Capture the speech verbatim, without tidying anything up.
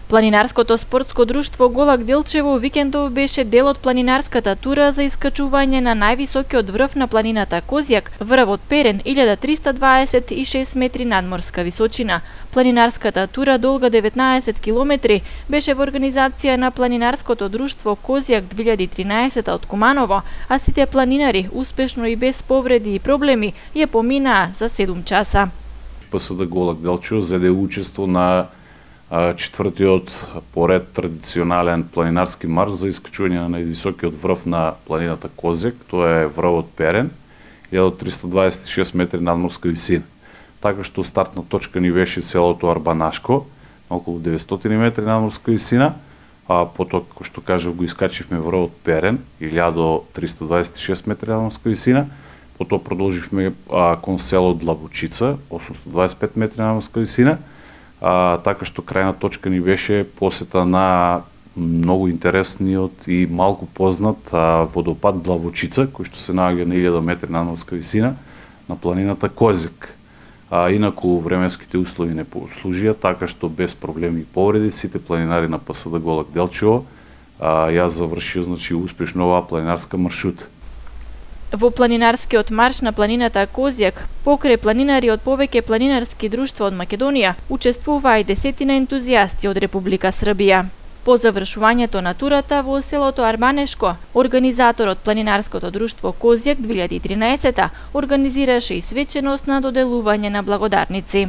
Планинарското спортско друштво Голак Делчево викендов беше дел од планинарската тура за искачување на највисокиот врв на планината Козјак, врвот Перен, илјада триста дваесет и шест метри надморска височина. Планинарската тура долга деветнаесет километри беше во организација на планинарското друштво Козјак две илјади и тринаесета од Куманово, а сите планинари успешно и без повреди и проблеми ја поминаа за седум часа. ПСД Голак Делчево зеде учество на четвртиот поред традиционален планинарски марш за искачување на највисокиот врв на планината Козјак, тоа е врвот Перен, илјада триста дваесет и шест метри надморска висина. Така што стартна точка ни беше селото Арбанашко, на околу деветстотини метри надморска висина, а потоа, како што кажав, го искачивме врвот Перен, илјада триста дваесет и шест метри надморска висина, потоа продолживме а, кон село Длабочица, осумстотини дваесет и пет метри надморска висина, А, така што крајна точка ни беше посета на многу интересниот и малку познат а, водопад Длабочица, кој што се наоѓа на илјада метри надморска висина на планината Козјак. А, инаку временските услови не послужија, така што без проблеми и повреди сите планинари на ПСД Голак Делчево а, ја завршија значи успешно оваа планинарска маршрута. Во планинарскиот марш на планината Козјак, покрај планинари од повеќе планинарски друштва од Македонија, учествуваа и десетина ентузијасти од Република Србија. По завршувањето на турата во селото Арбанешко, организаторот планинарското друштво Козјак две илјади и тринаесета организираше и свеченост на доделување на благодарници.